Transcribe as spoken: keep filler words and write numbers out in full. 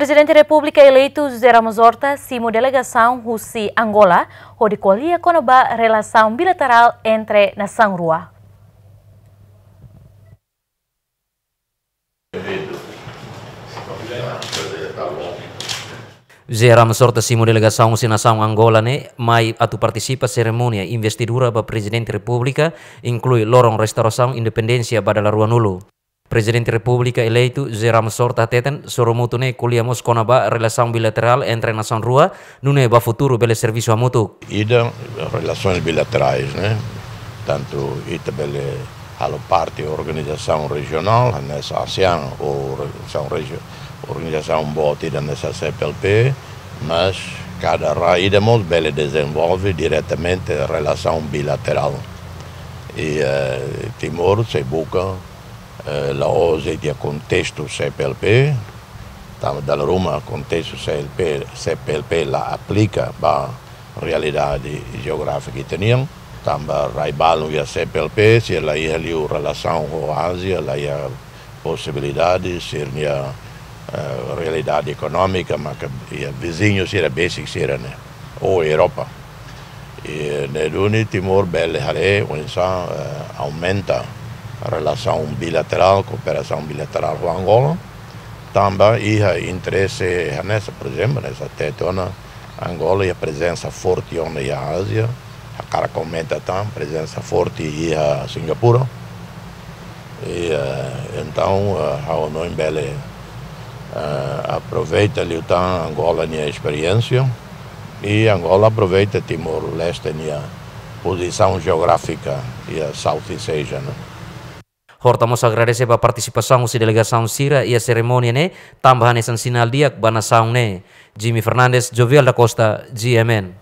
Prezidente Repúblika eleitu José Ramos Horta simu delegasaun husi Angola, hodi ko'alia kona-ba relasaun bilaterál entre nasaun rua. José Ramos Horta simu delegasaun husi nasaun Angola ne'e mai atu partisipa serimónia investidura ba Prezidente Repúblika, inklui loron restaurasaun independénsia ba dala ruanulu. Prezidente Repúblika eleitu José Ramos Horta hateten, sorumutu ne'e ko'alia mós kona-ba relasaun bilaterál entre nasaun rua, nune'e ba futuru bele servisu hamutuk. Ida, relações bilaterais, né? Tantu ita bele halo parte organizasaun rejionál, hanesan ASEAN ou organizasaun regi-, organizasaun boot ida hanesan CPLP, mas kada rai ida mós bele dezenvolve diretamente relasaun bilaterál. I, eh, Timor sei buka, eh, la'ós iha kontestu CPLP, tanba dala ruma kontestu CLP, CPLP la aplika ba realidade jeográfika ita-nian, tanba rai balun iha CPLP, sira la iha liu relasaun ho Ázia, la iha posibilidade, sira-nia, eh, realidade ekonómika, maka iha viziñu sira besik sira-ne'e, ou Europa. I ne'e duni Timor bele haree oinsá, eh, aumenta relasaun bilaterál, kooperasaun bilaterál ho Angola, tanba iha interese hanesan, por ezemplu, hanesan hatete ona, Angola iha prezensa forte ona iha Ázia, hakarak aumenta tan prezensa forte iha Singapura. I, eh, entaun, eh, ha'u hanoin bele, eh, aproveita liután Angola nia esperiénsia, i Angola aproveita Timor-Leste nia pozisaun jeográfika iha Southeast Asia ne'e. Horta mós agradese ba partisipasaun husi delegasaun sira iha serimónia ne'e, tanba hanesan sinál di'ak ba nasaun ne'e. Jimmy Fernandes, Jovial da Costa, G M N.